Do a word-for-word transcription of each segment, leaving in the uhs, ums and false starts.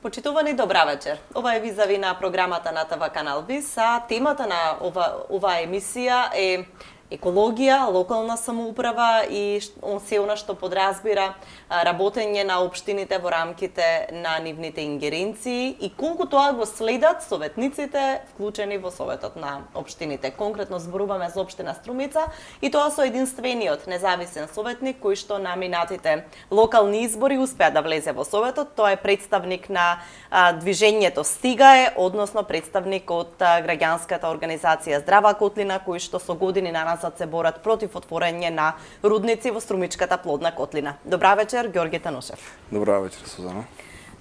Почитувани, добра вечер. Ова е визави на програмата на ТВ Канал Вис, а темата на ова, оваа емисија е екологија, локална самоуправа и се она што подразбира работење на општините во рамките на нивните ингеренции и колку тоа го следат советниците вклучени во Советот на општините. Конкретно зборуваме за општина Струмица и тоа со единствениот независен советник кој што на минатите локални избори успеа да влезе во Советот. Тоа е представник на а, движењето Стигаe, односно представник од а, граѓанската организација Здрава Котлина, кој што со години на назад се борат против отворање на рудници во Струмичката плодна котлина. Добра вечер, Ѓорѓе Танушев. Добра вечер, Сузана.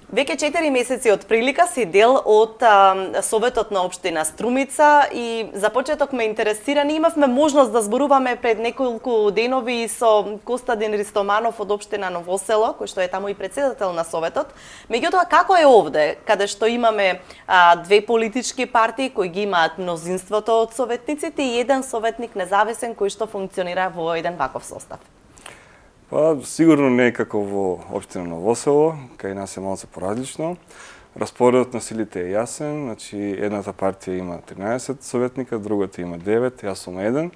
Веќе четири месеци од прилика си дел од а, Советот на општина Струмица и за почеток ме интересира, ние имавме можност да зборуваме пред неколку денови со Костадин Ристоманов од општина Новосело, кој што е таму и председател на Советот. Меѓутоа, како е овде, каде што имаме а, две политички партии кои ги имаат мнозинството од советниците и еден советник независен кој што функционира во еден ваков состав? Па, сигурно не е како во општина Новосело, кај нас е малце поразлично. Распоредот на силите е јасен, значи едната партија има тринаесет советника, другата има девет, јас сум еден.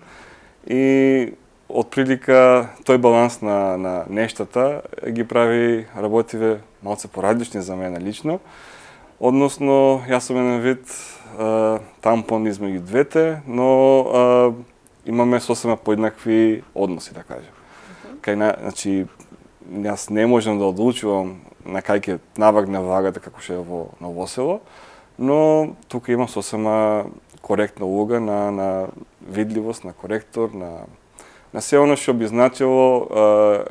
И отприлика тој баланс на, на нештата ги прави работиве малце поразлични за мене лично. Односно, јас сум еден вид а, тампон измеѓу двете, но а, имаме сосема поеднакви односи, да кажем. Кај на, значи, јас не можам да одлучувам на кај ќе навагне влагата како што е во Новосело, но тука имам сосема коректна улога на, на видливост, на коректор, на, на се оно што би значило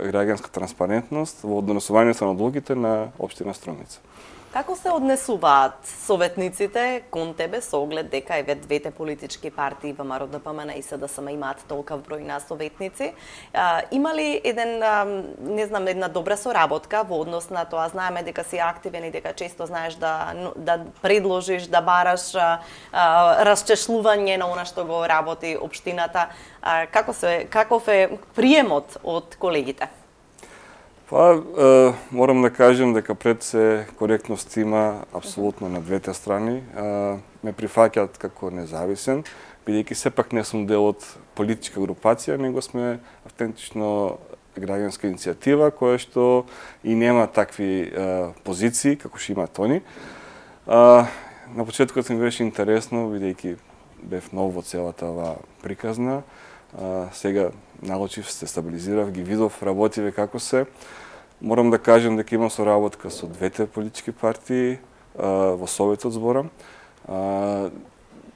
граѓанска транспарентност во однесувањето на одлуките на општина Струмица. Како се однесуваат советниците кон тебе со оглед дека еве двете политички партии ВМРО Д П М Н и С Д С М имаат толков број на советници? А, има ли еден, а, не знам, една добра соработка во однос на тоа? Знаеме дека си активен и дека често знаеш да, да предложиш, да бараш а, а, расчешлување на она што го работи општината. А, како се, каков е приемот од колегите? Па, е, морам да кажем дека пред се коректност има апсолутно на двете страни. Е, ме прифаќаат како независен, бидејќи сепак не сум дел од политичка групација, него сме автентично граѓанска иницијатива која што и нема такви е, позиции како што имаат они. Е, на почетокот ми беше интересно, бидејќи бев нов во целата оваа приказна. А, сега научив, се стабилизирав, ги видов работиве како се. Морам да кажем дека имам соработка со двете политички партии а, во Советот зборам. А,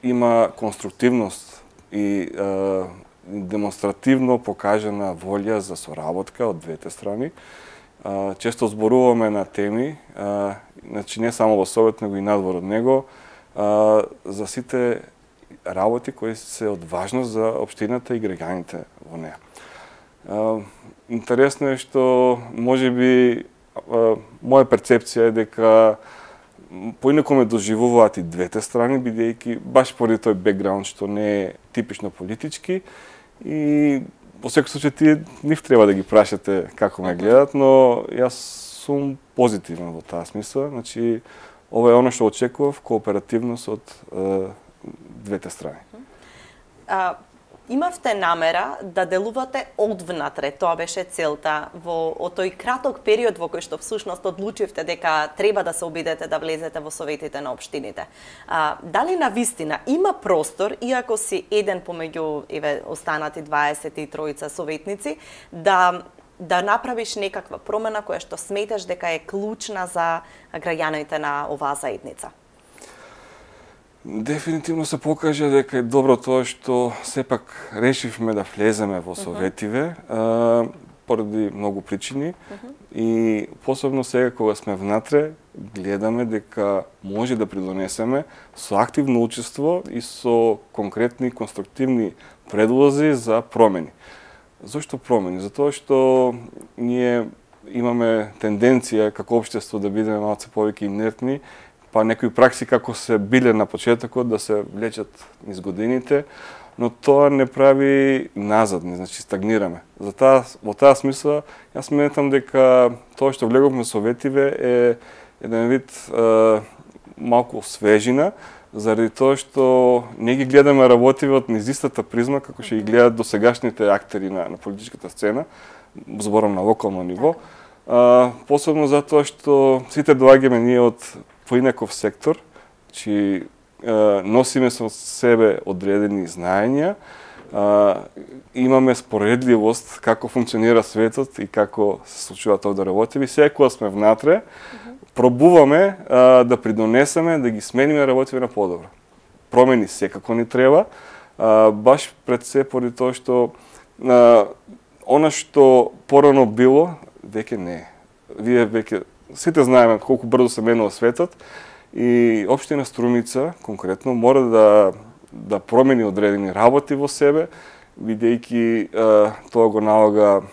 има конструктивност и а, демонстративно покажана волја за соработка од двете страни. А, често зборуваме на теми, а, значи не само во Совет, него и надвор од него, а, за сите работи кои се од важност за општината и граѓаните во неа. Uh, интересно е што можеби uh, моја перцепција е дека поинаку ме доживуваат и двете страни, бидејќи баш поради тој бекграунд што не е типично политички и во секој случај тие нив треба да ги прашате како ме гледат, но јас сум позитивен во таа смисла, значи ова е она што очекував, кооперативност од uh, двете страни. А, имавте намера да делувате одвнатре, тоа беше целта во од тој краток период во кој што всушност одлучивте дека треба да се обидете да влезете во советите на општините. А, дали на вистина има простор, иако си еден помеѓу еве останати дваесет и тројца советници, да да направиш некаква промена која што сметаш дека е клучна за граѓаните на оваа заедница? Дефинитивно се покажа дека е добро тоа што сепак решивме да влеземе во советиве, uh-huh. а, поради многу причини uh-huh. и посебно сега кога сме внатре гледаме дека може да придонесеме со активно учество и со конкретни конструктивни предлози за промени. Зошто промени? Затоа што ние имаме тенденција како општество да бидеме малце повеќе инертни, па некои пракси како се биле на почетокот да се влечат низ годините, но тоа не прави назад, не значи стагнираме. Затоа во таа смисла јас сметам дека тоа што влеговме советиве е еден вид е, малку свежина, заради тоа што не ги гледаме работиви од низ истата призма како што ги гледат досегашните актери на, на политичката сцена, зборам на локално ниво. А, посебно затоа што сите доаѓаме ние од поинаков сектор, чи носиме со себе одредени знаења, а, имаме споредливост како функционира светот и како се случуваат овде работиви. Секоја сме внатре, пробуваме а, да придонесеме, да ги смениме работиви на подобро. Промени секако ни треба, а, баш пред се поради тоа што а, она што порано било, веќе не е. Вие веќе сите знаеме колку брзо се менува светот и општина Струмица конкретно мора да да промени одредени работи во себе, бидејќи тоа го налага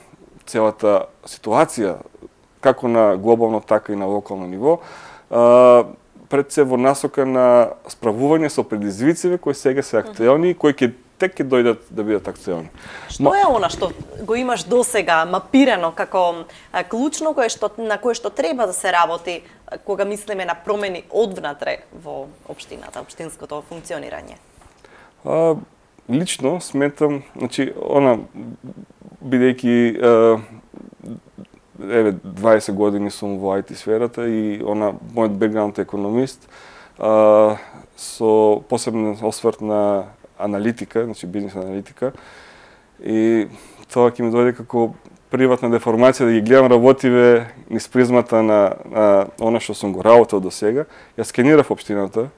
целата ситуација како на глобално, така и на локално ниво, а, пред се во насока на справување со предизвиците кои сега се актуелни и кои ќе тек ќе дојдат да бидат актуелни. Што е она што го имаш досега мапирано како а, клучно кое што на кое што треба да се работи кога мислиме на промени одвнатре во општината, општинското функционирање? А, лично сметам, значи она бидејќи еве дваесет години сум во ай ти сферата и она мојот бекграунд е економист, а, со посебен осврт на аналитика, значи бизнес аналитика, и тоа ќе ми дојде како приватна деформација да ги гледам работиве низ призмата на, на она што сум го работел до сега. Ја скенирав општината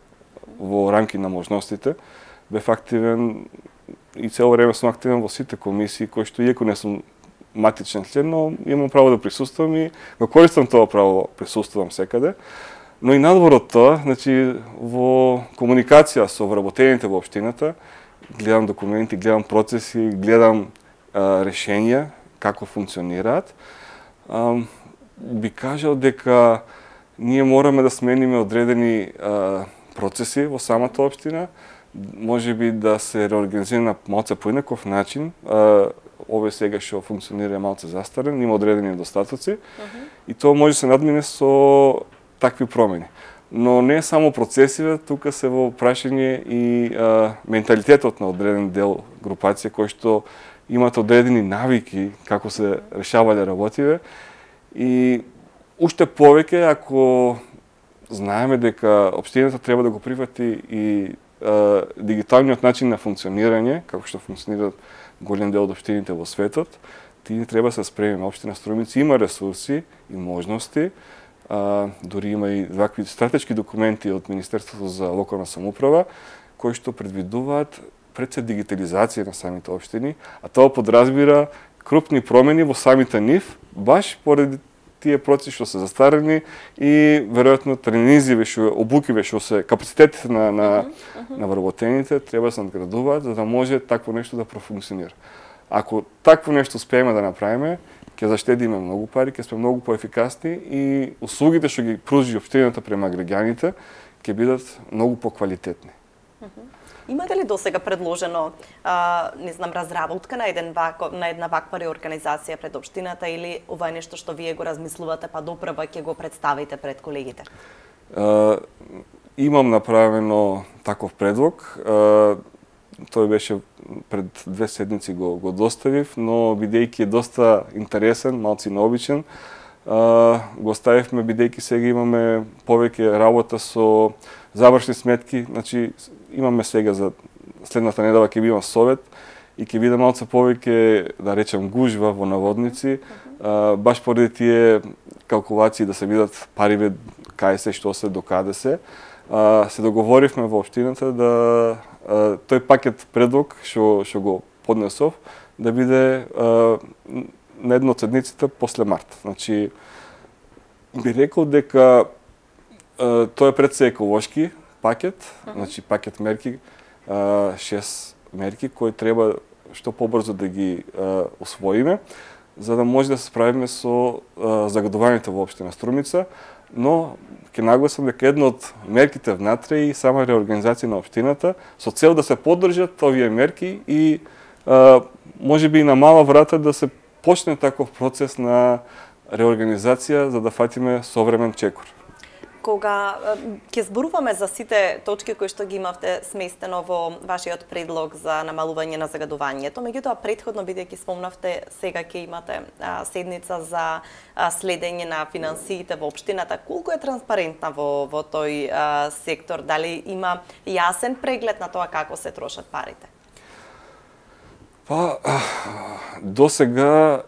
во рамки на можностите, бев активен и цело време сум активен во сите комисии, кои што иако не сум матичен член, но имам право да присуствувам и го користам тоа право, присуствувам секаде. Но и надвор од тоа, значи во комуникација со вработените во општината, гледам документи, гледам процеси, гледам а, решенија како функционираат. А, би кажал дека ние мораме да смениме одредени а, процеси во самата општина, може би да се реорганизира на малце поинаков начин. А, овој сега што функционира малце застарен, има одредени недостатоци, uh-huh. и тоа може да се надмине со такви промени. Но не само процесиве, тука се во прашање и а, менталитетот на одреден дел групација кои што имаат одредени навики како се решавале работиве и уште повеќе ако знаеме дека општината треба да го прифати и а, дигиталниот начин на функционирање, како што функционираат голем дел од општините во светот, тие треба да се спремиме. Општина Струмица има ресурси и можности, а, дури има и вакви стратешки документи од Министерството за локална самоуправа, кои што предвидуваат пред се дигитализација на самите општини, а тоа подразбира крупни промени во самите нив, баш поради тие процеси што се застарени и веројатно тренизиве што обукиве што се капацитетите на на uh -huh. на вработените треба да се надградуваат за да може такво нешто да профункционира. Ако такво нешто успееме да направиме, ќе заштедиме многу пари, ќе сме многу поефикасни и услугите што ги пружи општината према граѓаните ќе бидат многу поквалитетни. Uh -huh. Имате ли досега предложено, а, не знам, разработка на еден вако, на една ваква реорганизација пред општината или ова е нешто што вие го размислувате па допрва ќе го представите пред колегите? А, имам направено таков предлог. А, тој беше пред две седмици го го доставив, но бидејќи е доста интересен, малци необичен, а, го ставивме бидејќи сега имаме повеќе работа со завршни сметки, значи имаме сега за следната недела ќе биде совет и ќе биде малце повеќе, да речем, гужва во наводници, а, баш поради тие калкулации да се видат париве кај се, што се, докаде се. А, се договоривме во општината да а, тој пакет предлог што што го поднесов да биде а, на една од седниците после март. Значи би рекол дека а, тоа е пред се еколошки пакет, uh-huh. значи пакет мерки, а, шест мерки кои треба што побрзо да ги а, усвоиме, за да може да се справиме со а, загадувањето во општина Струмица, но ќе нагласам дека една од мерките внатре и сама реорганизација на општината со цел да се поддржат овие мерки и а, може би и на мала врата да се почне таков процес на реорганизација за да фатиме современ чекор. Кога ќе зборуваме за сите точки кои што ги имавте сместено во вашиот предлог за намалување на загадувањето, меѓутоа претходно бидејќи спомнавте сега ќе имате а, седница за а, следење на финансиите во општината, колку е транспарентна во во тој а, сектор, дали има јасен преглед на тоа како се трошат парите? Па до сега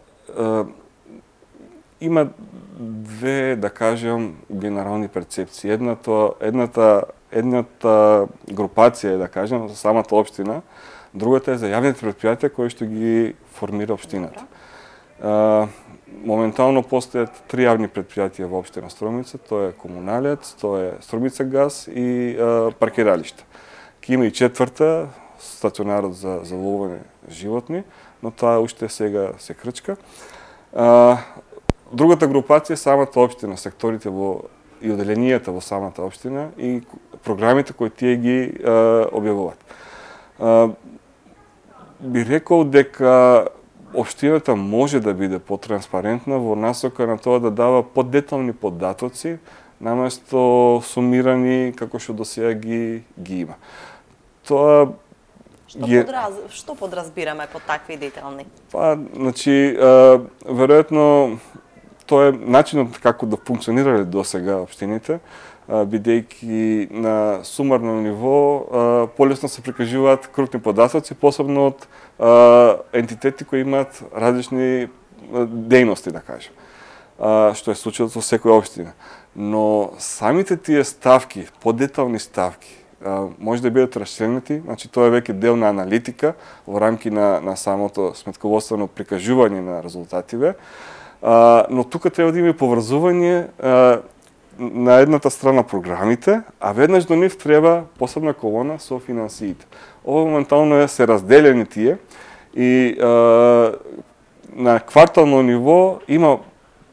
има две, да кажем, генерални перцепции. Едната, едната, едната групација е, да кажем, за самата општина, другата е за јавните предпријатија кои што ги формира општината. А, моментално постојат три јавни предпријатија во општина Струмица, тоа е Комуналец, тоа е Струмица газ и а, паркиралиште. Ке има и четврта, стационарот за за ловење животни, но тоа уште сега се крчка. А, Другата групација е самата општина, секторите во и оделенијата во самата општина и програмите кои тие ги е, објавуваат. Е, би рекол дека општината може да биде потранспарентна во насока на тоа да дава подетални податоци наместо сумирани како што досега ги ги има. Тоа Што, е... подраз... Што подразбираме под такви детални? Па, значи, е, веројатно тоа е начинот како да функционирале досега општините, бидејќи на сумарно ниво полесно се прикажуваат крупни податоци, посебно од ентитети кои имаат различни дејности, да кажем, што е случајот со секоја општина. Но самите тие ставки, подетални ставки, може да бидат расчленети, значи тоа е веќе дел на аналитика во рамки на, на самото сметководствено прикажување на резултативе, Uh, но тука треба да има и поврзување uh, на едната страна програмите, а веднаш до нив треба посебна колона со финансиите. Ова моментално е се разделени тие и uh, на квартално ниво има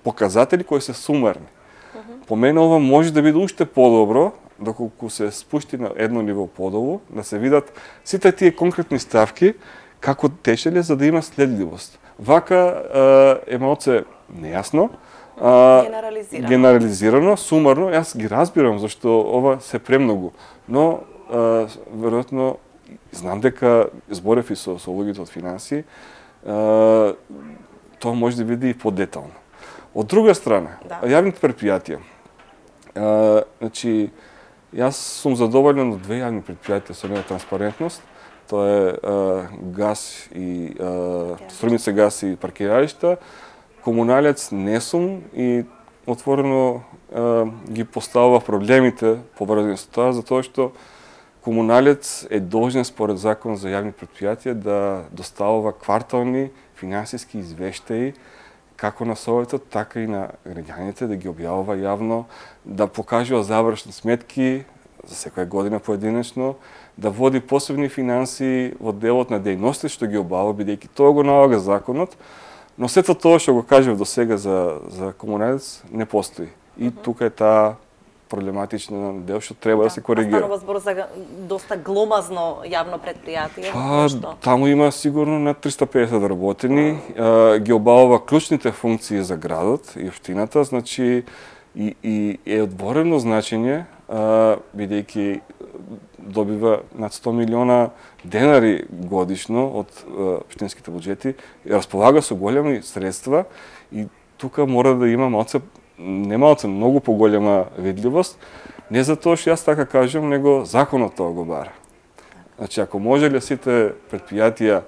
показатели кои се сумарни. Uh-huh. По мене ова може да биде уште подобро, доколку се спушти на едно ниво подолу, да се видат сите тие конкретни ставки како течеле за да има следливост. Вака е малце нејасно, генерализирано. генерализирано, сумарно, јас ги разбирам зашто ова се премногу, но а, веројатно знам дека зборев и со, со луѓето од финансии, а, тоа може да биде и подетално. Од друга страна, да. Јавните предпријатија. А, значи, јас сум задоволен од две јавни предпријатија со неја транспарентност. Тоа е а, газ и а, Струмица газ и паркиралишта. Комуналец не сум и отворено а, ги поставува проблемите поврзани со тоа, затоа што комуналец е должен според закон за јавни предпријатија да доставува квартални финансиски извештаи како на Советот, така и на граѓаните, да ги објавува јавно, да покажува завршни сметки за секоја година поединечно, да води посебни финансии во делот на дејности што ги обава, бидејќи тоа го налага законот, но сето тоа што го кажев до сега за, за комуналец не постои. И uh-huh. тука е таа проблематична дел што треба да, да се коригира. Станува збор за доста гломазно јавно предпријатие. Па, таму има сигурно над триста и педесет работени, uh-huh. ги обавува клучните функции за градот и општината, значи и, и е одворено значење, бидејќи добива над сто милиона денари годишно од општинските буџети, располага со големи средства и тука мора да има малце, не малце, многу поголема видливост, не за тоа што јас така кажам, него законот тоа го бара. Значи, ако можеле сите предпријатија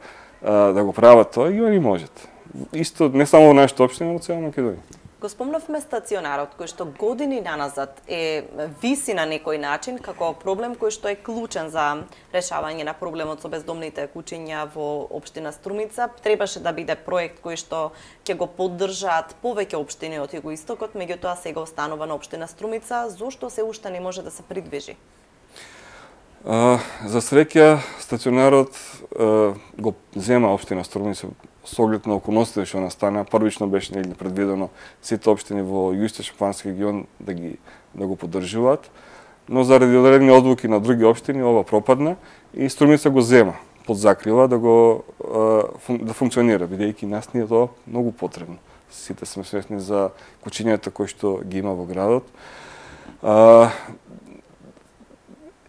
да го прават тоа, и они можат. Исто не само во нашата општина, но во цела Македонија. Го спомнавме стационарот, кој што години наназад е виси на некој начин како проблем кој што е клучен за решавање на проблемот со бездомните куќиња во општина Струмица. Требаше да биде проект кој што ќе го поддржаат повеќе општини од југоистокот, меѓутоа сега останува на општина Струмица. Зошто се уште не може да се придвижи? А, за среќа, стационарот а, го зема општина Струмица со оглед на околностите што настана. Првично беше негде предвидено сите општини во југоисточно-плански регион да ги да го поддржуваат, но заради одредени одлуки на други општини ова пропадна и Струмица го зема под закрила да го да функционира, бидејќи нас ни е тоа многу потребно. Сите сме свесни за куќињата кои што ги има во градот. А,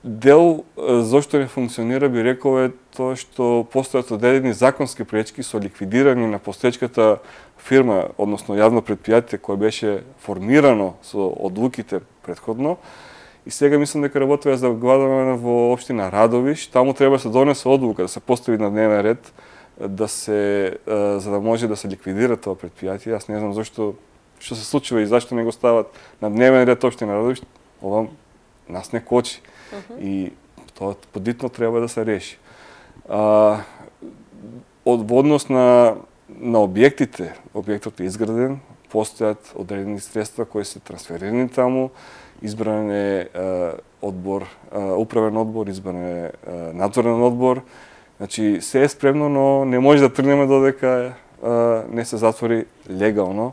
дел зошто не функционира, би рекол, е тоа што постојат одредени законски пречки со ликвидирање на постоечката фирма, односно јавно предпријатие кое беше формирано со одлуките претходно. И сега мислам дека работува за гладуване во општина Радовиш, таму треба да се донесе одлука, да се постави на дневен ред, да се за да може да се ликвидира тоа предпријатие. Јас не знам зошто што се случува и зашто не го стават на дневен ред општина Радовиш. Ова нас не кочи. Uh -huh. И тоа подитно треба да се реши. А, од однос на на објектите, објектот е изграден, постојат одредени средства кои се трансферирани таму, избран е одбор, управен одбор, избран е надзорен одбор. Значи се е спремно, но не може да тргнеме додека не се затвори легално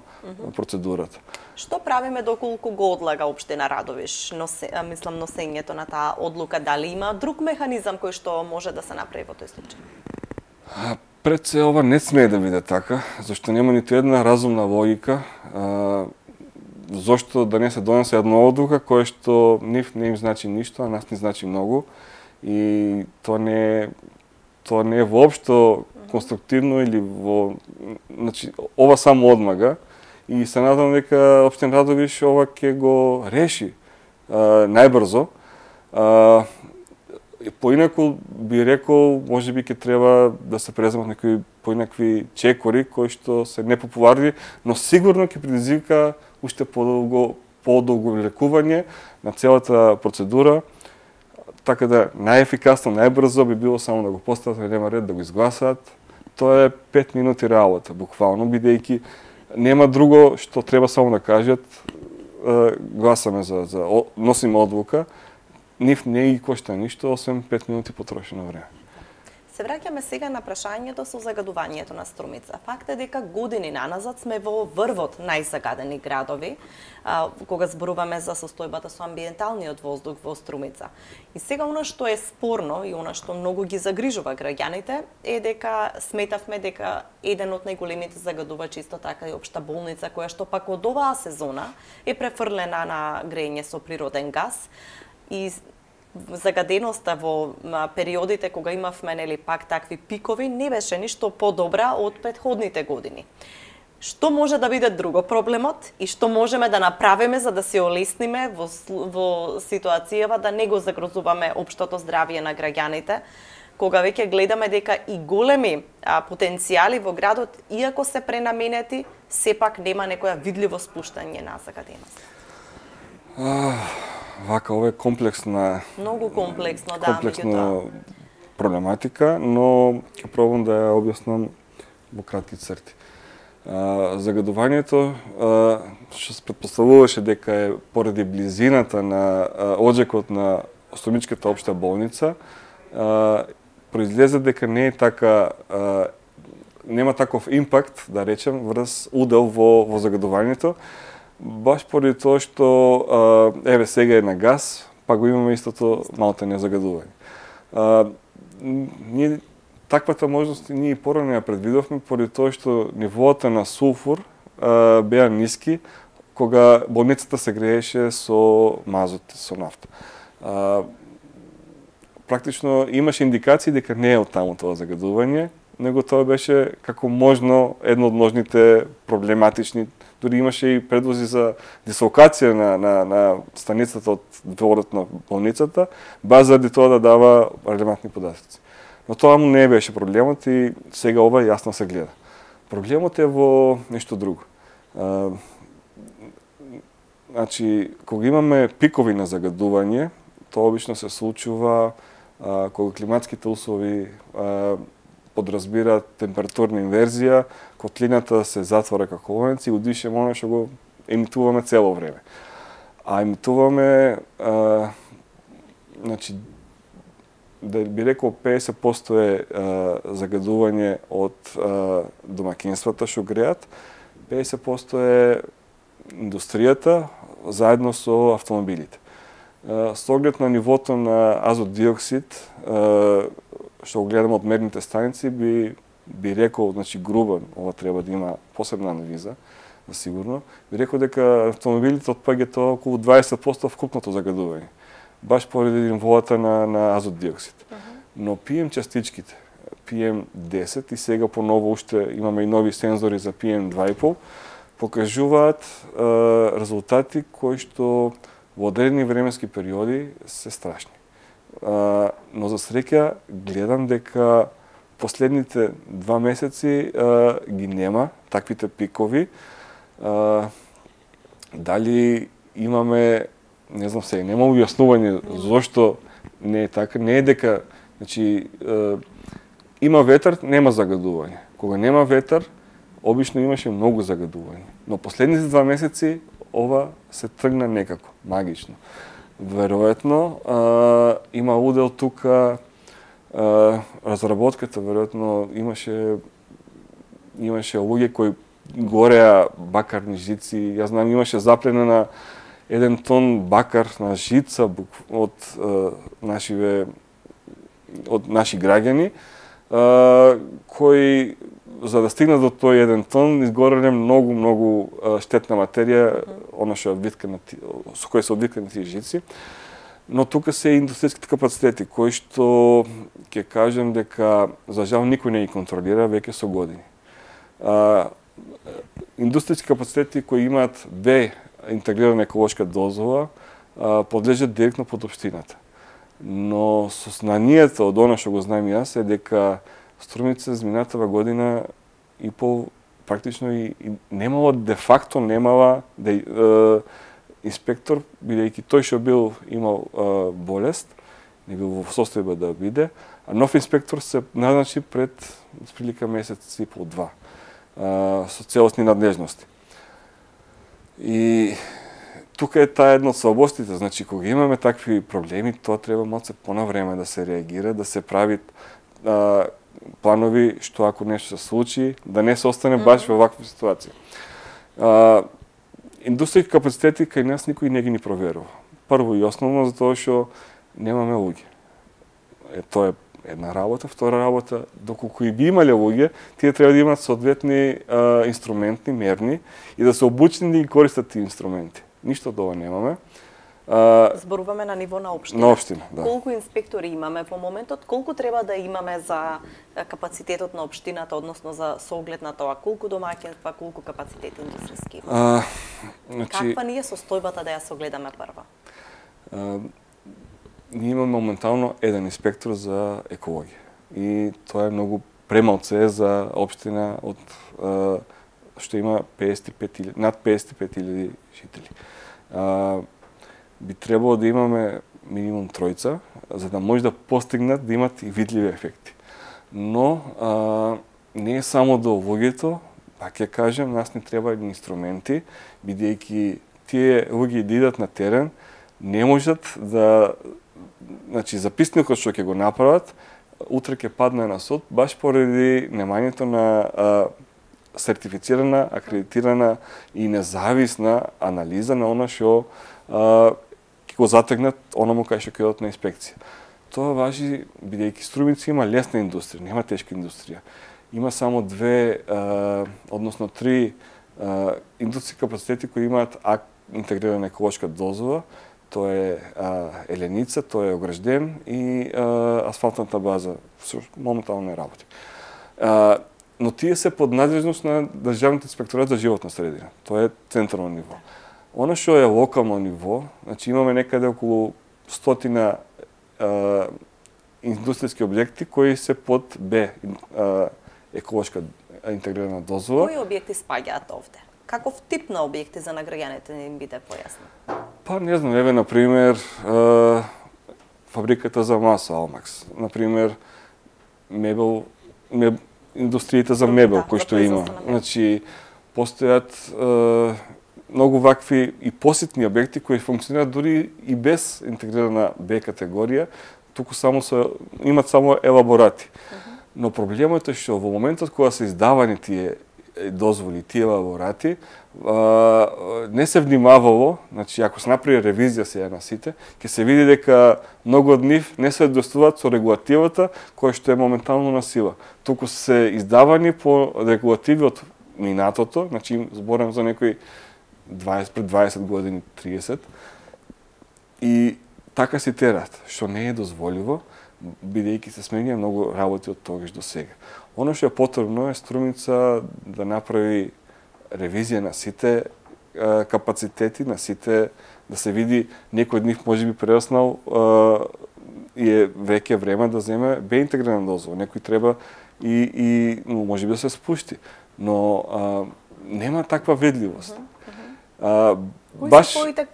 процедурата. Што правиме доколку го одлага општина Радовиш, носе, мислам носењето на таа одлука, дали има друг механизам кој што може да се направи во тој случај? Пред се ова не смее да биде така, зашто нема ниту една разумна логика. А, зошто да не се донесе една одлука која што нив не им значи ништо, а нас не значи многу, и тоа не тоа не е воопшто конструктивно или во, значи ова само одмага. И се надам дека општина Радовиш ова ќе го реши а, најбрзо. А, поинаку би рекол, можеби ќе треба да се преземат некои поинакви чекори кои што се непопуларни, но сигурно ќе предизвика уште подолго подолго лекување на целата процедура. Така да најефикасно, најбрзо би било само да го постават на дневен ред, да го изгласаат. Тоа е пет минути работа, буквално, бидејќи нема друго што треба само да кажат, гласаме за, за носиме одлука, нив не ги кошта ништо, освен пет минути потрошено време. Се враќаме сега на прашањето со загадувањето на Струмица. Факт е дека години наназад сме во врвот најзагадени градови, а, кога зборуваме за состојбата со амбиенталниот воздух во Струмица. И сега она што е спорно и она што многу ги загрижува граѓаните е дека сметавме дека еден од најголемите загадувачи исто така и општа болница, која што пак од оваа сезона е префрлена на грејење со природен газ, и загаденоста во периодите кога имавме нели пак такви пикови не беше ништо подобра од претходните години. Што може да биде друго проблемот и што можеме да направиме за да се олесниме во, во ситуацијава да не го загрозуваме општото здравје на граѓаните, кога веќе гледаме дека и големи а, потенцијали во градот, иако се пренаменети, сепак нема некоја видливо спуштање на загаденост. Вака, ова е комплексна... Многу комплексно, да, комплексна проблематика, но ќе пробам да ја објаснам во кратки црти. А, загадувањето, а, што се претпоставуваше дека е поради близината на а, оджекот на Струмичката општа болница, а, произлезе дека не е така, а, нема таков импакт, да речем, врз удел во, во загадувањето, баш поради тоа што а, еве сега е на газ, па го имаме истото малте незагадување. А, ние таквата можност ние порано ја предвидовме поради тоа што нивоата на сулфур а, беа ниски кога болницата се грееше со мазот, со нафта. А, практично имаше индикации дека не е од таму тоа загадување, него тоа беше како можно едно од можните проблематични. Дори имаше и предлози за дислокација на, на, на станицата од дворот на болницата, баш заради тоа да дава релевантни податоци. Но тоа му не беше проблемот и сега ова јасно се гледа. Проблемот е во нешто друго. А, значи, кога имаме пикови на загадување, тоа обично се случува а, кога климатските услови а, подразбира температурна инверзија, котлината се затвора како ловенци и удишеме оно што го емитуваме цело време. А емитуваме, а, значи, да би рекол педесет проценти е а, загадување од а, домакинствата што греат, педесет проценти е индустријата заедно со автомобилите. А, со оглед на нивото на азот диоксид, а, што го гледаме од мерните станици, би би рекол, значи грубо, ова треба да има посебна анализа, сигурно, би рекол дека автомобилите од ПГ-то околу дваесет проценти вкупното загадување. Баш поради нивоата на, на азот диоксид. Uh -huh. Но пи ем частичките, пи ем десет и сега поново уште имаме и нови сензори за пи ем два и пол, покажуваат е, резултати кои што во одредени временски периоди се страшни. Е, но за среќа гледам дека последните два месеци е, ги нема таквите пикови. Е, дали имаме, не знам сега, нема објаснување зошто не е така, не е дека, значи, е, има ветар, нема загадување. Кога нема ветар, обично имаше многу загадување. Но последните два месеци ова се тргна некако, магично. Веројатно, е, има удел тука, е, разработката, веројатно имаше имаше луѓе кои гореа бакарни жици. Јас знам, имаше запленена еден тон бакар на жица од е, нашиве од наши граѓани, е, кои за да стигнат до тој еден тон изгореле многу многу штетна материја, она што е одвиткана, со која се одвиткани тие жици. Но тука се индустријските капацитети кои што ќе кажам дека за жал никој не ги контролира веќе со години. А, индустријски капацитети кои имаат Б интегрирана еколошка дозвола подлежат директно под општината. Но со знанието од она што го знам јас е дека Струмица изминатава година и пол практично и, и немало, де факто немала де, е, инспектор, бидејќи тој што бил имал е, болест, не бил во состојба да биде, а нов инспектор се назначи пред прилика месец и пол два со целосни надлежности. И тука е таа една од слабостите, значи кога имаме такви проблеми, тоа треба малце понавреме да се реагира, да се прави а, планови што ако нешто се случи, да не се остане баш во ваква ситуација. А, индустријски капацитети кај нас никој не ги ни проверува. Прво и основно затоа што немаме луѓе. Е, тоа е една работа, втора работа, доколку и би имале луѓе, тие треба да имаат соодветни а, инструменти, мерни и да се обучени да ги користат тие инструменти. Ништо од ова немаме. А, Зборуваме на ниво на општина. На општина, да. Колку инспектори имаме во моментот? Колку треба да имаме за капацитетот на општината, односно за соглед на тоа? Колку домаќинства, колку капацитет индустријски има? А, значи, Каква ни е состојбата да ја согледаме прва? А, ние имаме моментално еден инспектор за екологија. И тоа е многу премалце за општина од а, што има песет и пет илјади, над песет и пет илјади жители. А, би требало да имаме минимум тројца, за да може да постигнат да имат и видливи ефекти. Но а, не е само до луѓето, пак ќе кажем, нас не треба инструменти, бидејќи тие луѓе да идат на терен, не можат да, значи записникот што ќе го направат, утре ќе падне на суд, баш поради немањето на а, сертифицирана, акредитирана и независна анализа на она што ќе го затегнат оному кај што ќе одат на инспекција. Тоа важи бидејќи Струмица има лесна индустрија, нема тешка индустрија. Има само две, а, односно три а, индустријски капацитети кои имаат ак, интегрирана еколошка дозвола. Тоа е а, Еленица, тоа е Огражден и а, асфалтната база, моментално не работи. А, но тие се под надлежност на Државниот инспекторат за животна средина. Тоа е централно ниво. Оно што е локално ниво, значи имаме некаде околу стотина а, индустријски објекти кои се под Б а, еколошка интегрирана дозвола. Кои објекти спаѓаат овде? Каков тип на објекти за награѓаните не им биде појасно? Па не знам, еве на пример а, фабриката за маса Алмакс, на пример мебел, меб, индустријата за мебел да, кој што има. Значи постојат а, многу вакви и посетни објекти кои функционираат дури и без интегрирана Б категорија, туку само се имат само елаборати. Uh -huh. Но проблемот е што во моментот кога се издавани тие дозволи, тие елаборати, не се внимавало, значи ако се направи ревизија сега на сите, ќе се види дека многу од нив не се соодветствуваат со регулативата која што е моментално на сила. Туку се издавани по регулативи од минатото, значи зборам за некои дваесет пред дваесет години, триесет. И така си терат, што не е дозволиво, бидејќи се сменија многу работи од тогаш до сега. Оно што е потребно е Струмица да направи ревизија на сите е, капацитети, на сите, да се види некој од нив можеби прераснал и е веќе време да земе бе интегрирана дозвола. Некој треба и, и можеби да се спушти. Но а, нема таква ведливост. А, Кои баш... се твоите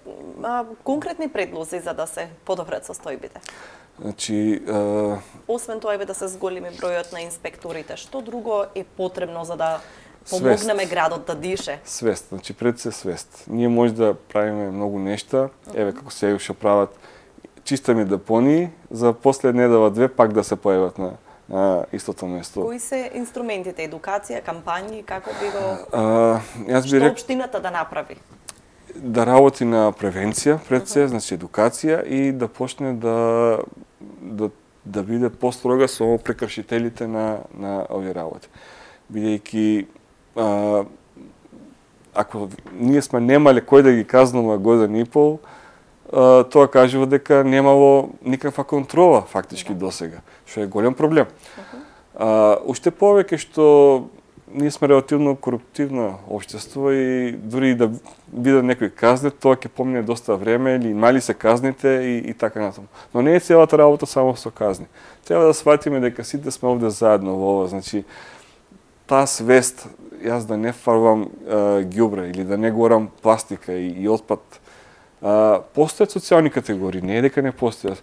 а, конкретни предлози за да се подобрат состојбите? Значи, а... освен тоа е да се зголеми бројот на инспекторите, што друго е потребно за да помогнеме свест. Градот да дише? Свест, значи пред се свест. Ние може да правиме многу нешта, еве како се што прават чистами депонии, за после недела две пак да се појават на на истото место. Кои се инструментите, едукација, кампањи, како би го а, јас би што рек... општината да направи? Да работи на превенција пред се, uh -huh. значи едукација и да почне да да да биде построга со прекршителите на на овие работи. Бидејќи а, ако ние сме немале кој да ги казнува година и пол, а, тоа кажува дека немало никаква контрола фактички да. Досега, што е голем проблем. Uh -huh. а, уште повеќе што ние сме релативно коруптивно општество и дури да видат некој казнет, тоа ќе помине доста време или мали се казните и, и така натаму. Но не е целата работа само со казни. Треба да сватиме дека сите сме овде заедно во ова, значи таа свест, јас да не фарбам ѓубре или да не горам пластика и, и отпад. А, постојат социјални категории, не е дека не постојат,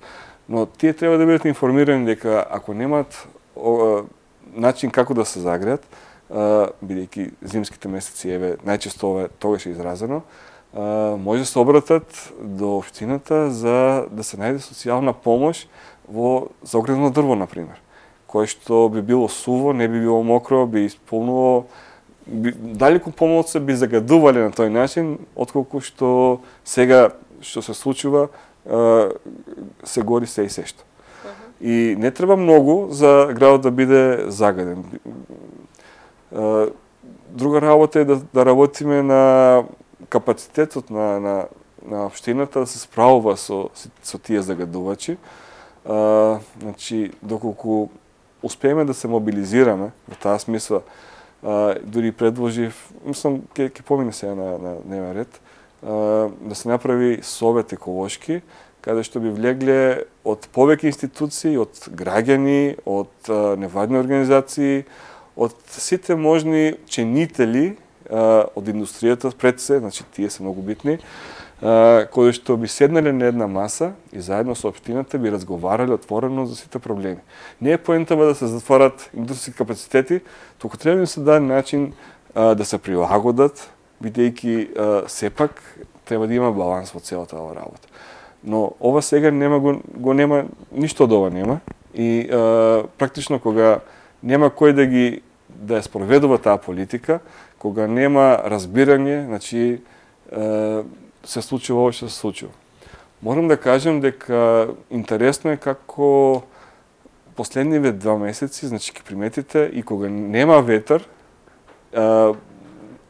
но тие треба да бидат информирани дека ако немаат о, начин како да се загреат, бидејќи зимските месеци, еве, најчесто ова тогаш е изразено, може да се обратат до општината за да се најде социјална помош во за огредно дрво, например, кое што би било суво, не би било мокро, би исполнувало, би, далеку помалку би загадувале на тој начин, отколку што сега што се случува, се гори се и се што. И не треба многу за градот да биде загаден. Друга работа е да, да работиме на капацитетот на, на, на општината да се справува со, со тие загадувачи. А, значи, доколку успееме да се мобилизираме, во таа смисла, а, дури предложив, мислам, ќе ќе помине сега на, на дневен ред, а, да се направи совет еколошки, каде што би влегле од повеќе институции, од граѓани, од а, невладни организации, од сите можни ченители а, од индустријата пред се, значи тие се многу битни, а, кои што би седнале на една маса и заедно со општината би разговарале отворено за сите проблеми. Не е поентава да се затворат индустријски капацитети, туку треба да се даде начин а, да се прилагодат, бидејќи сепак треба да има баланс во целата ова работа. Но ова сега нема го, го нема, ништо од ова нема и а, практично кога нема кој да ги да ја спроведува таа политика, кога нема разбирање, значи е, се случува ова што се случува. Морам да кажем дека интересно е како последниве два месеци, значи ќе приметите и кога нема ветер, е,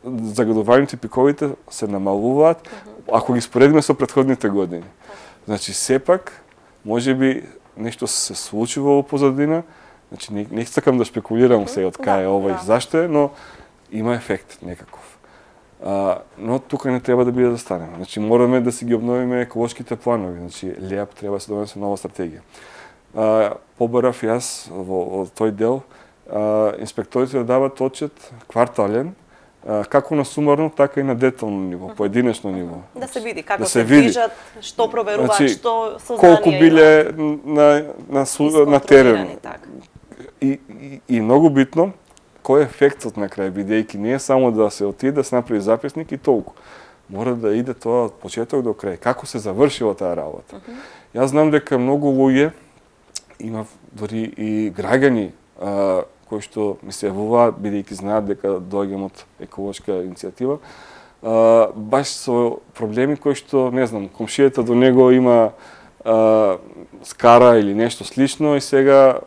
загадувањето и пиковите се намалуваат, ако ги споредиме со претходните години. Значи сепак можеби нешто се случува во позадина. Значи, не, не сакам да шпекулирам сега од кај е ова и зашто е, но има ефект некаков. А, но тука не треба да биде да станеме. Значи, мораме да си ги обновиме еколошките планови. Значи, ЛЕАП треба да се донесе нова стратегија. А, побарав јас во, во тој дел, а, инспекторите да дават отчет квартален, а, како на сумарно, така и на детално ниво, поединечно ниво. Да се види како да се, се движат, што проверуваат, значи, што сознанија колку биле на, на, на, на терен. Така. И, и, и многу битно, кој е ефектот на крај, бидејќи не е само да се отиде, да се направи записник и толку. Мора да иде тоа од почеток до крај. Како се завршила таа работа? Uh -huh. Јас знам дека многу луѓе, има дори и граѓани, а, кои што ми се јавуваат, бидејќи знаат дека доаѓам од еколошка иницијатива, а, баш со проблеми кои што, не знам, комшијата до него има а, скара или нешто слично и сега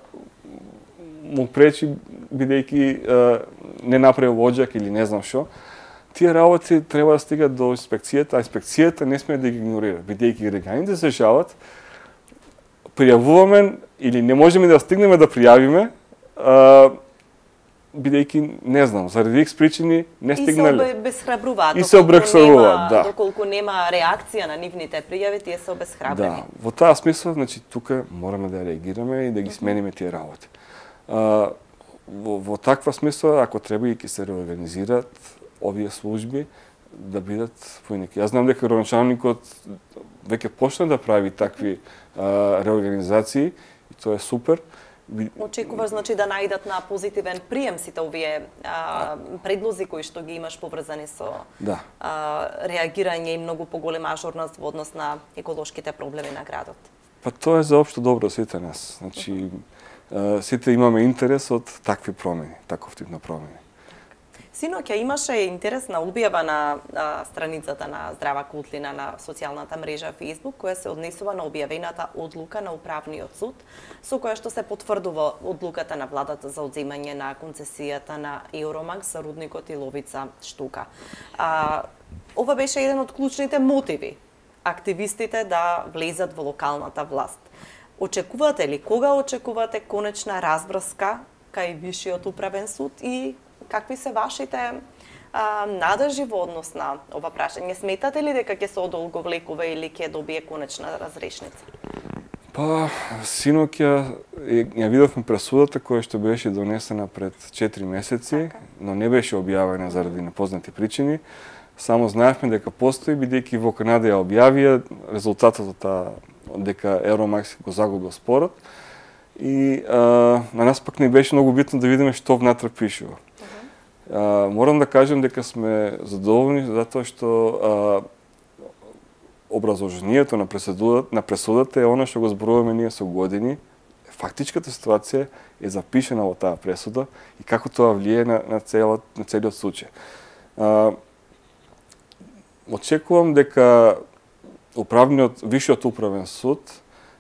му пречи, бидејќи не направил оџак или не знам што, тие работи треба да стигат до инспекцијата, а инспекцијата не смее да ги игнорира, бидејќи граѓаните се жалат, пријавуваме или не можеме да стигнеме да пријавиме, а, бидејќи не знам, заради икс причини не стигнале. И се обесхрабруваат. И се обесхрабруваат, да. Доколку нема реакција на нивните пријави, тие се обесхрабрени. Да, во таа смисла, значи тука мораме да реагираме и да ги смениме тие работи. А, во, во таква смисла, ако треба и ќе се реорганизираат овие служби, да бидат поинеки. Јас знам дека градоначалникот веќе почна да прави такви а, реорганизации и тоа е супер. Очекуваш, значи, да најдат на позитивен прием сите овие а, предлози кои што ги имаш поврзани со да. а, реагирање и многу поголема ажурност во однос на еколошките проблеми на градот? Па тоа е за општо добро сите нас. Значи, uh -huh. а, сите имаме интерес од такви промени, таков тип на промени. Синоќа имаше интересна објава на а, страницата на Здрава Кутлина на социјалната мрежа Facebook, која се однесува на објавената одлука на Управниот суд, со која што се потврдува одлуката на владата за одземање на концесијата на Евромакс за рудникот Иловица Штука. А, ова беше еден од клучните мотиви активистите да влезат во локалната власт. Очекувате ли, кога очекувате конечна разбрска кај Вишиот управен суд и какви се вашите а, надежи во однос на ова прашање? Сметате ли дека ќе се одолговлекува или ќе добие конечна разрешница? Па, синоќа ја видовме пресудата која што беше донесена пред четири месеци, така. Но не беше објавена заради непознати причини. Само знаевме дека постои, бидејќи во Канада ја објавија резултатот од таа дека Евромакс го загубил спорот. И а, на нас пак не беше многу битно да видиме што внатре пишува. Uh, морам да кажем дека сме задоволни затоа што uh, образложението на пресудата, на пресудата е она што го зборуваме ние со години. Фактичката ситуација е запишена во таа пресуда и како тоа влие на, на, целот, на целиот случај. Uh, очекувам дека управниот, Вишиот управен суд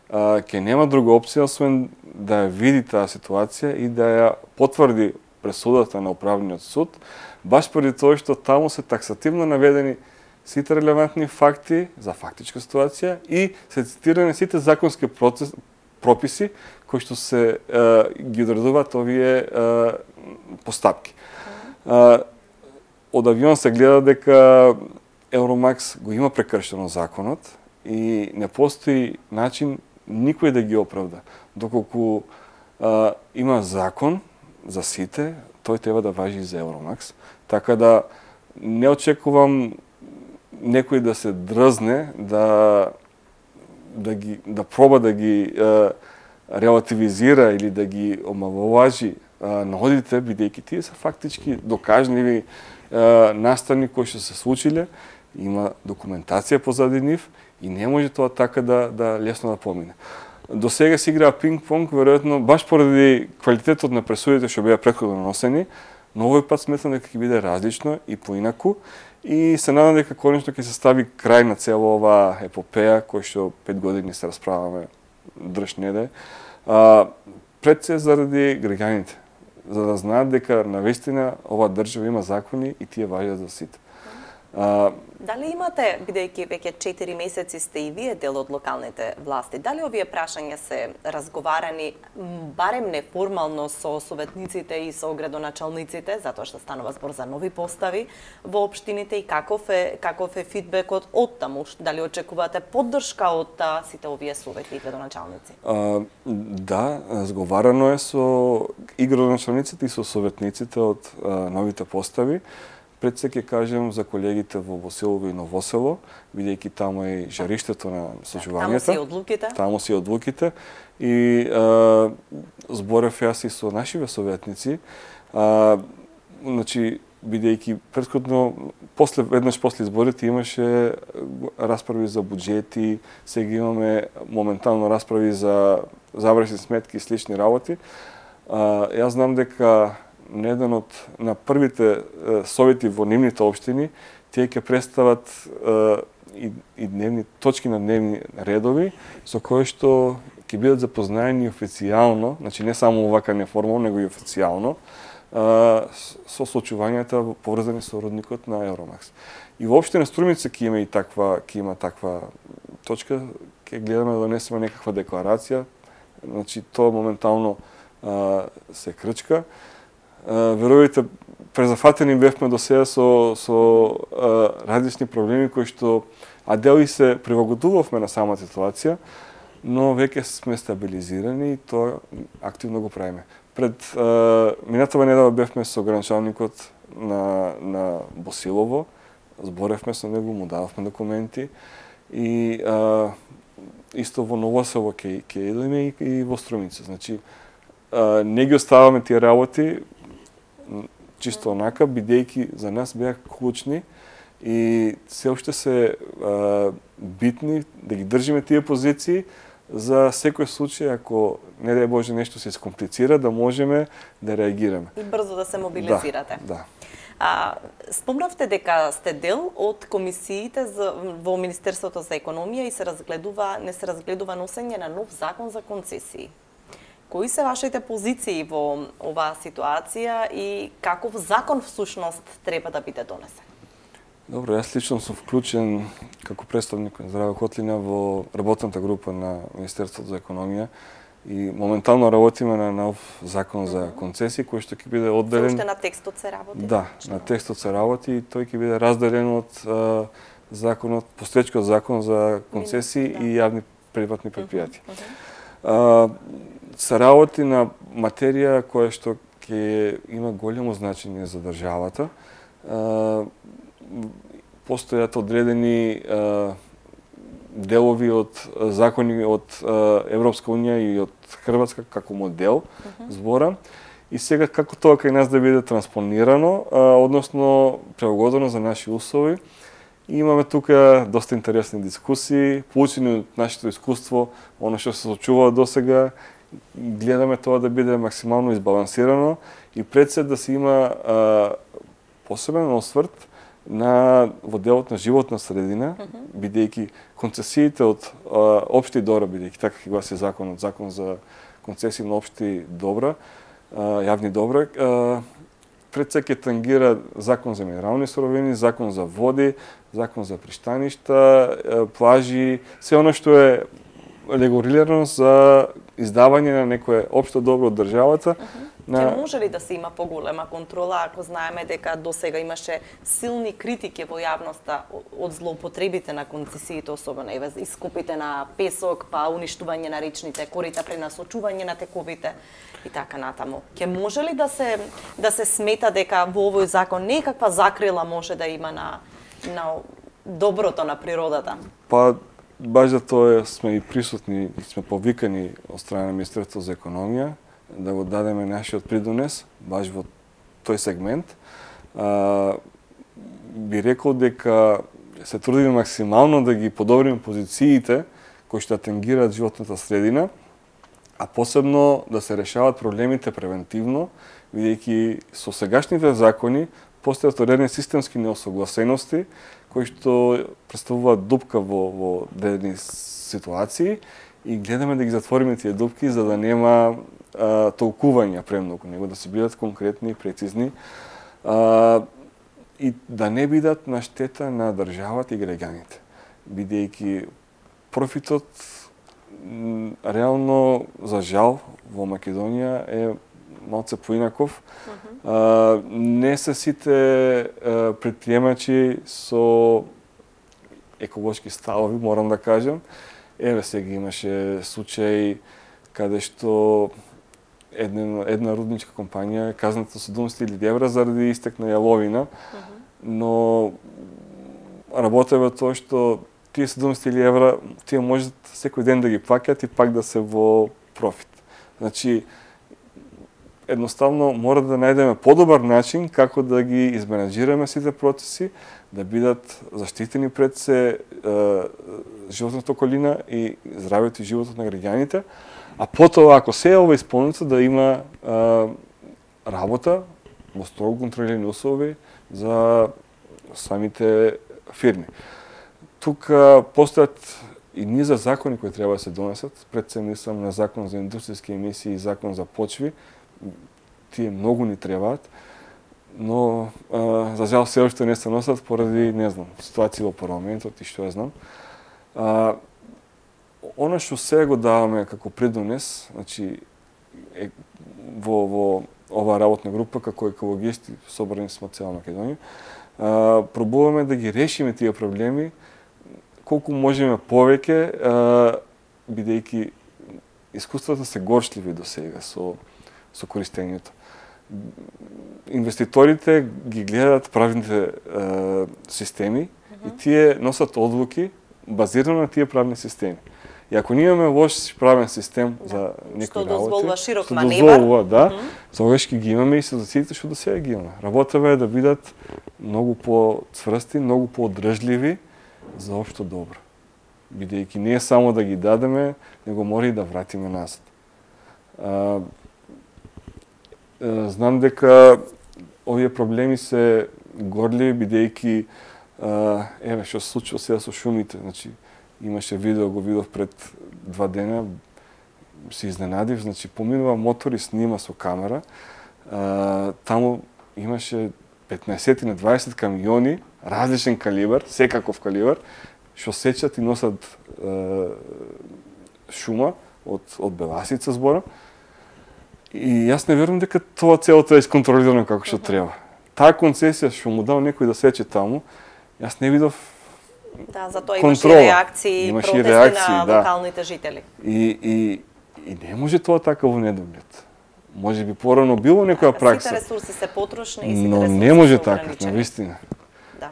uh, ќе нема друга опција освен да ја види таа ситуација и да ја потврди пресудата на управниот суд, баш поради тоа што таму се таксативно наведени сите релевантни факти за фактичка ситуација и се цитирани сите законски процес, прописи кои што се е, ги одредуваат овие е, постапки. Е, од авион се гледа дека Евромакс го има прекршено законот и не постои начин никој да ги оправда. Доколку е, има закон за сите, тој треба да важи и за Евромакс. Така да не очекувам некој да се дрзне да да ги да проба да ги е, релативизира или да ги омаловажи наодите, бидејќи тие се фактички докажливи е, настани кои што се случиле, има документација позади нив и не може тоа така да да лесно да помине. До сега се играа пинг-понг, веројатно баш поради квалитетот на пресудите што беа претходно носени, но овој пат сметам дека ќе биде различно и поинаку и се надам дека конечно ќе се стави крај на цела оваа епопеја која што пет години се расправаме држ неде. А, пред се заради граѓаните, за да знаат дека навистина оваа држава има закони и тие важат за сите. А, Дали имате, бидејќи веќе четири месеци сте и вие дел од локалните власти, дали овие прашања се разговарани барем неформално со советниците и со градоначалниците, затоа што станува збор за нови постави во општините и каков е каков е фидбекот од таму? Дали очекувате поддршка од сите овие совети и градоначалници? А, да, разговарано е со и градоначалниците и со советниците од а, новите постави. Пред се ќе кажем за колегите во Босилово и Новосело, бидејќи таму е и жариштето на случувањата. Таму си одлуките. Таму си одлуките. И а, зборев јас и со нашиве советници. А, значи, бидејќи претходно, после, веднаш после изборите имаше расправи за буџети, сега имаме моментално расправи за завршни сметки и слични работи. А, јас знам дека на еден од на првите е, совети во нивните општини, тие ќе представат е, и, и дневни точки на дневни редови со кои што ќе бидат запознаени официјално, значи не само овака неформално, него и официјално, со случувањата поврзани со родникот на Евромакс. И воопште на Струмица ќе има и таква, ќе има таква точка, ќе гледаме да донесеме некаква декларација. Значи тоа моментално а, се крчка. А, верувате, презафатени бевме до сега со со а, различни проблеми кои што а дел и се прилагодувавме на самата ситуација, но веќе сме стабилизирани и тоа активно го правиме. Пред а, минатава недела бевме со граничалникот на на Босилово, зборевме со него, му дававме документи и а, исто во Новосело ќе ќе идеме и, и во Струмица. Значи а, не ги оставаме тие работи чисто онака, бидејќи за нас беа клучни и се уште се а, битни да ги држиме тие позиции за секој случај, ако не дај Боже нешто се искомплицира, да можеме да реагираме. И брзо да се мобилизирате. Да, да. А, спомнавте дека сте дел од комисиите за, во Министерството за економија и се разгледува, не се разгледува носење на нов закон за концесии. Кои се вашите позиции во оваа ситуација и каков закон всушност треба да биде донесен? Добро, јас лично сум вклучен како представник на Здраве Котлина во работната група на Министерството за економија и моментално работиме на нов закон за концесии кој што ќе биде одделен. Уште на текстот се работи? Да, на текстот се работи и тој ќе биде разделен од а, законот, постоечкиот закон за концесии да. И јавни приватни предпријатија. Uh -huh. Се работи на материја која што ќе има големо значење за државата. А, постојат одредени а, делови од закони од а, Европска унија и од Хрватска како модел, uh-huh. зборам. И сега како тоа кај нас да биде транспонирано, а, односно прилагодено за наши услови. И имаме тука доста интересни дискусии, получени од нашето искуство, оно што се случува досега, гледаме тоа да биде максимално избалансирано и пред се да се има а, посебен осврт на во делот на животна средина, uh -huh. бидејќи концесиите од а, општи добра, бидејќи така ќе гласи законот, закон за концесии на општи добра, а, јавни добра, а, пред се ќе тангира закон за минерални суровини, закон за води, закон за пристаништа, плажи, се оно што е регулирано за издавање на некое општо добро од државата. Uh -huh. На... Ќе може ли да се има поголема контрола, ако знаеме дека досега имаше силни критики во јавноста од злоупотребите на концесиите, особено еве искупите на песок, па уништување на речните корита, пренасочување на тековите и така натаму. Ќе може ли да се да се смета дека во овој закон некаква закрила може да има на на доброто на природата? Па баш за тоа сме и присутни и сме повикани од страна на Министерството за економија да го дадеме нашиот придонес, баш во тој сегмент. А, би рекол дека се трудиме максимално да ги подобриме позициите кои што атенгираат животната средина, а посебно да се решаваат проблемите превентивно, бидејќи со сегашните закони постојат одредени системски неосогласености кои што представуваат дупка во, во одредени ситуации и гледаме да ги затвориме тие дупки за да нема а, толкувања премногу, него да се бидат конкретни и прецизни а, и да не бидат на штета на државата и граѓаните, бидејќи профитот реално за жал во Македонија е малце поинаков. Uh-huh. а, не се сите а, предприемачи со еколошки ставови, морам да кажам. Еве сега имаше случај каде што една, една рудничка компанија е казната со седумдесет илјади евра заради истек на јаловина, uh-huh. но работева тоа што тие седумдесет илјади евра тие можат секој ден да ги плаќаат и пак да се во профит. Значи, едноставно мора да најдеме подобар начин како да ги изменаџираме сите процеси, да бидат заштитени пред се е, животната околина и здравјето и животот на граѓаните, а потоа ако се е ова исполнето да има е, работа во строго контролирани услови за самите фирми. Тука постојат и низа закони кои треба да се донесат, пред се мислам на закон за индустријски емисии и закон за почви. тие многу ни требаат, но а, за жал се уште не се носат поради, не знам, ситуација во парламентот и што ја знам. А, Она што сега го даваме како придонес, значи е, во, во оваа работна група како екологисти собрани сме од цела Македонија, а, пробуваме да ги решиме тие проблеми колку можеме повеќе, бидејќи искуствата се горчливи до сега со со користењето. Инвеститорите ги гледат правните е, системи mm-hmm. и тие носат одлуки базирано на тие правни системи. И ако ние имаме лош правен систем да. за некои работи, што дозволува широк што маневар, дозволува, да, mm-hmm. тогаш ќе ги имаме и ситуациите што до сега ги имаме. Работава е да бидат многу по-цврсти, многу по-одржливи за општо добро. Бидејќи не е само да ги дадеме, него мора и да вратиме назад. А, знам дека овие проблеми се горливи, бидејќи еве што се случува сега со шумите, значи имаше видео, го видов пред два дена, се изненадив, значи поминува мотор и снима со камера, а, таму имаше петнаесет на дваесет камиони, различен калибар, секаков калибар, што сечат и носат е, шума од, од беласица зборам. И јас не верувам дека тоа целото е исконтролирано како што треба. Таа концесија што му дал некој да сече таму, јас не видов да, затоа контрола. имаше реакции, имаше протести реакции, на да. локалните жители. И, и, и не може тоа така во недоглед. Може би порано било некоја да, пракса. Сите ресурси се потрошни и сите но ресурси не може се така, ограничени. навистина. Да.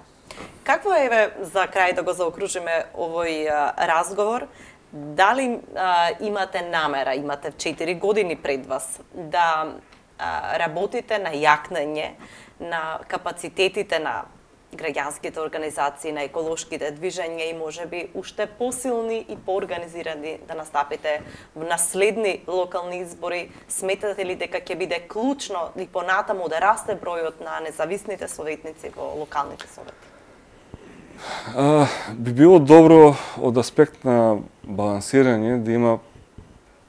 Какво е, еве, за крај да го заокружиме овој а, разговор, дали а, имате намера, имате четири години пред вас, да а, работите на јакнење на капацитетите на граѓанските организации, на еколошките движења и можеби уште посилни и поорганизирани да настапите на следни локални избори? Сметате ли дека ќе биде клучно и понатаму да расте бројот на независните советници во локалните совети? А, би било добро од аспект на балансирање да има,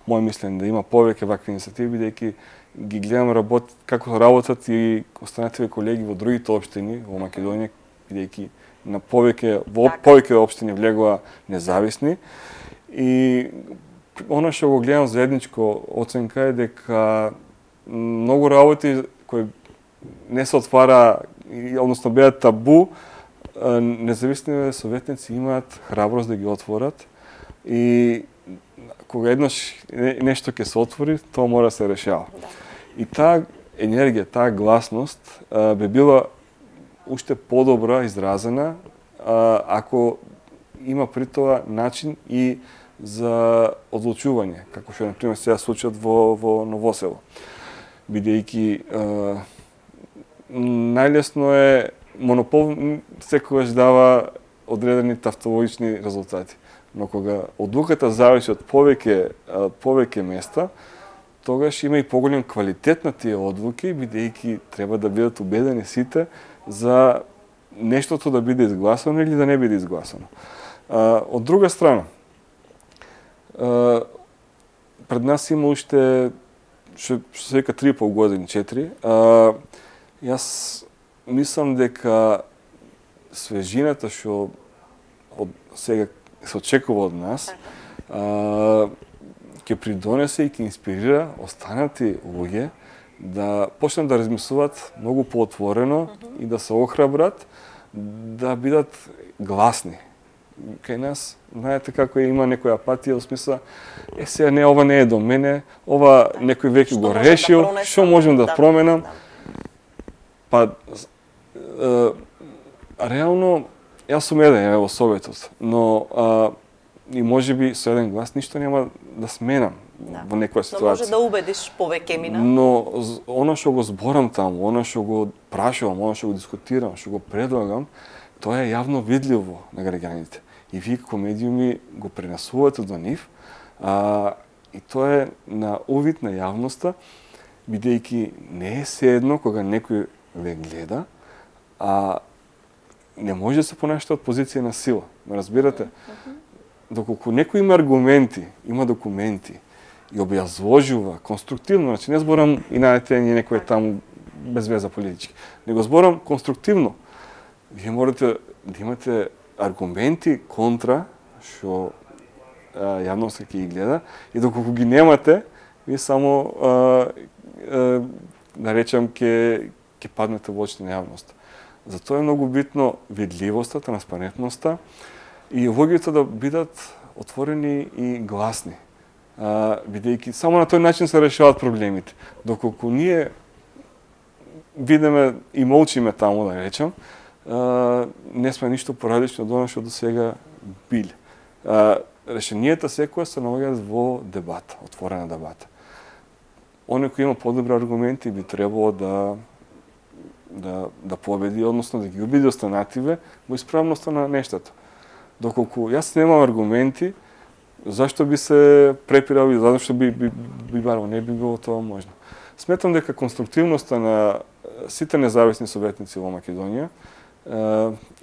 мој мислење, да има повеќе вакви инициативи, бидејќи ги гледам работ, како работат и останативе колеги во другите општини во Македонија, бидејќи на повеќе во така. повеќе општини влегува независни. И она што го гледам заедничко оценка е дека многу работи кои не се отвара, односно беа табу, независни советници имаат храброст да ги отворат и кога еднаш нешто ќе се отвори, тоа мора да се решава. Да. И таа енергија, таа гласност а, би била уште подобра изразена а, ако има при тоа начин и за одлучување, како што на пример сега случајот во во Новосело. Бидејќи најлесно е монопол секогаш дава одредени тавтологични резултати. Но кога одлуката зависи од повеќе повеќе места, тогаш има и поголем квалитет на тие одлуки, бидејќи треба да бидат убедени сите за нештото да биде изгласано или да не биде изгласано. А, од друга страна, а, пред нас има уште што се вика три и пол години, четири. А, јас мислам дека свежината што од сега се очекува од нас, а, ќе придонесе и ќе инспирира останати луѓе да почнат да размислуваат многу поотворено mm-hmm. и да се охрабрат да бидат гласни. Кај нас, знаете како е, има некоја апатија, во смисла, е сега не, ова не е до мене, ова да. некој веќе го решил, да што можем да, да променам. Да. Па, е, реално, јас сум еден е, во Советот, но а, и може би со еден глас ништо нема да сменам да. во некоја ситуација. Но може да убедиш повеќе мина. Но она што го зборам таму, она што го прашувам, она што го дискутирам, што го предлагам, тоа е јавно видливо на граѓаните. И вие како медиуми го пренесувате до нив, а, и тоа е на увид на јавноста, бидејќи не е седно кога некој ве гледа, а не може да се понашате од позиција на сила. Ме разбирате? Mm-hmm. Доколку некој има аргументи, има документи и објазложува конструктивно, значи не зборам и најдете некој таму без веза политички, него зборам конструктивно. Вие морате да имате аргументи контра што јавноста ќе ги гледа и доколку ги немате, вие само а, а, да речем ќе ќе паднете во очите на јавноста. Затоа е многу битно видливоста, транспарентноста и луѓето да бидат отворени и гласни. А, бидејќи само на тој начин се решаваат проблемите. Доколку ние видиме и молчиме таму, да речем, а, не сме ништо поразлично од она што до сега биле. А, решенијата секоја се наоѓаат во дебата, отворена дебата. Оној кој има подобри аргументи би требало да да да победи, односно да ги убеди останативе во исправноста на нештата. Доколку јас немам аргументи, зашто би се препирал и зашто би би, би барал, не би било тоа можно. Сметам дека конструктивноста на сите независни советници во Македонија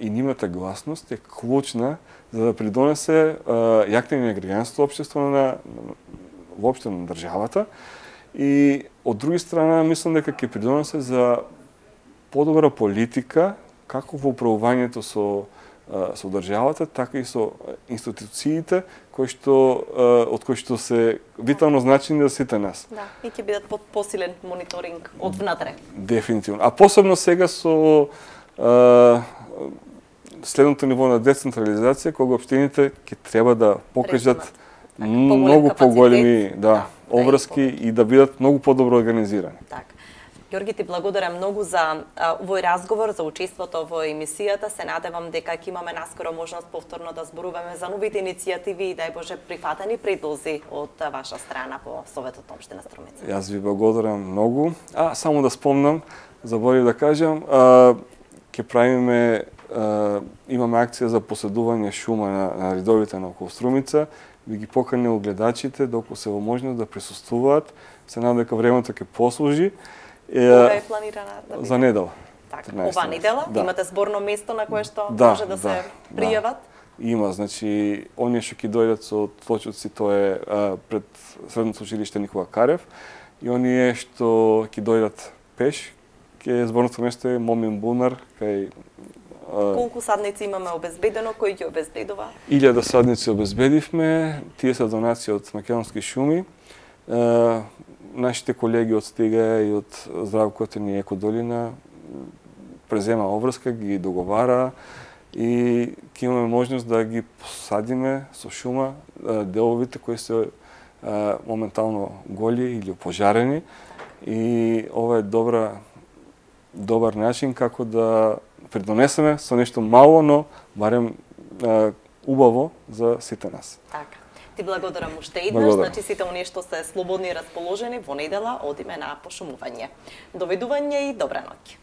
и нивната гласност е клучна за да придонесе јакнење на граѓанското општество на воопшто на државата и од друга страна мислам дека ќе придонесе за подобра политика како во управувањето со со државата, така и со институциите кои што од кои што се витално значени за сите нас. Да, и ќе бидат под посилен мониторинг од внатре. Дефинитивно. А посебно сега со а, следното ниво на децентрализација, кога општините ќе треба да покажат така, многу поголеми да, да, обврски да и да бидат многу подобро организирани. Така. Ѓорги, ти благодарам многу за а, овој разговор, за учеството во емисијата. Се надевам дека ќе имаме наскоро можност повторно да зборуваме за новите иницијативи и дај Боже прифатени предлози од а, ваша страна по Советот на општина Струмица. Јас ви благодарам многу. А само да спомнам, заборив да кажам, а, ќе правиме а, имаме акција за поседување шума на, на ридовите на околу Струмица. Ви ги поканил гледачите доколку се во можност да присуствуваат. Се надам дека времето ќе послужи. Кога е планирана да биде? За недела. Така, ова недела да. Имате зборно место на кое што да, може да, да се пријават? Да. Има, значи, оние што ќе дојдат со тлочоци, тоа е а, пред Средното училиште Никола Карев, и оние што ќе дојдат пеш, ќе зборното место е Момин Бунар, кај а... Колку садници имаме обезбедено, кој ги обезбедува? илјада садници обезбедивме, тие се донации од Македонски шуми. А, нашите колеги од Стига и од Здравкотен и Екодолина презема обврска, ги договара и ќе имаме можност да ги посадиме со шума деловите кои се моментално голи или опожарени и ова е добра добар начин како да придонесеме со нешто мало, но барем убаво за сите нас. Така. Ти благодарам уште еднаш, значи сите оние што се слободни и расположени во недела одиме на пошумување. Довидување и добра ноќ.